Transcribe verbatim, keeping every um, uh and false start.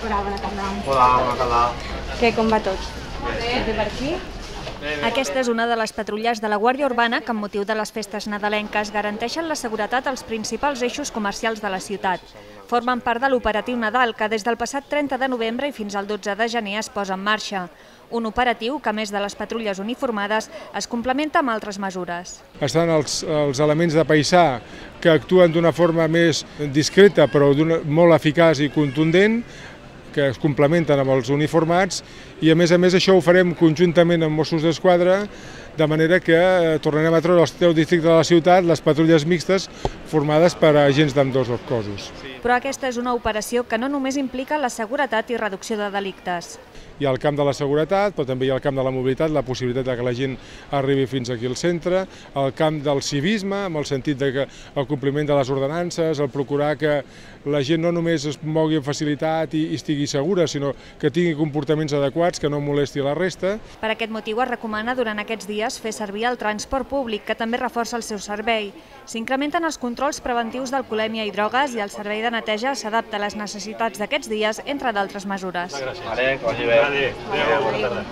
Hola, bona tarda. Hola, bona tarda. Què, com va tot? Bé per aquí? Aquesta és una de les patrulles de la Guàrdia Urbana que, amb motiu de les festes nadalenques, garanteixen la seguretat als principals eixos comercials de la ciutat. Formen part de l'operatiu Nadal, que des del passat trenta de novembre i fins al dotze de gener es posa en marxa. Un operatiu que, a més de les patrulles uniformades, es complementa amb altres mesures. Estan els, els elements de paisà que actuen d'una forma més discreta però molt eficaç i contundent, que es complementen amb els uniformats, i a més a més això ho farem conjuntament amb Mossos d'Esquadra, de manera que tornarem a treure als deu districtes de la ciutat les patrulles mixtes formades per agents d'ambdós cossos. Però aquesta és una operació que no només implica la seguretat i reducció de delictes. Hi ha el camp de la seguretat, però també hi ha el camp de la mobilitat, la possibilitat que la gent arribi fins aquí al centre, el camp del civisme, amb el sentit de que el compliment de les ordenances, el procurar que la gent no només es mogui amb facilitat i estigui segura, sinó que tingui comportaments adequats, que no molesti la resta. Per aquest motiu es recomana durant aquests dies fer servir el transport públic, que també reforça el seu servei. S'incrementen els controls preventius d'alcoholèmia i drogues i el servei de neteja s'adapta a les necessitats d'aquests dies, entre d'altres mesures. Vale, que vagi bé. Adéu, bona tarda.